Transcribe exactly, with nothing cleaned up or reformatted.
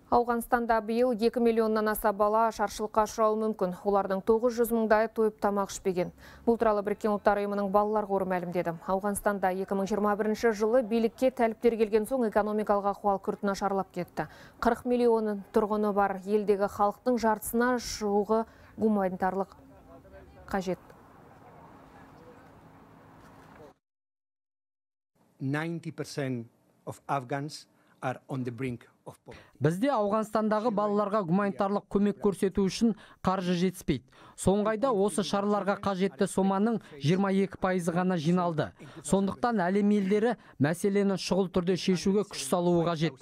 Ауғанстанда биыл екі миллионнан аса бала шаршылыққа ұшырауы мүмкін. Олардың тоғыз жүз мыңдайы тойып тамақ ішпеген. Бұл туралы Біріккен ұлттар ұйымының балалар қоры мәлімдеді. Ауғанстанда екі мың жиырма бірінші жылы билікке тәліптер келген соң экономикалық ахуал күрт нашарлап кетті. қырық миллион тұрғыны бар елдегі халықтың жартысына жуығы гуманитарлық қажет. ninety percent of Afghans are on the brink of poverty. Бізде Ауғанстандағы балаларға гуманитарлық көмек көрсету үшін қаржы жетіспейді. Соңғы айда осы шараларға қажетті соманың жиырма екі пайызы ғана жиналды. Сондықтан әлем елдері мәселені шұғыл түрде шешуге күш салуы қажет.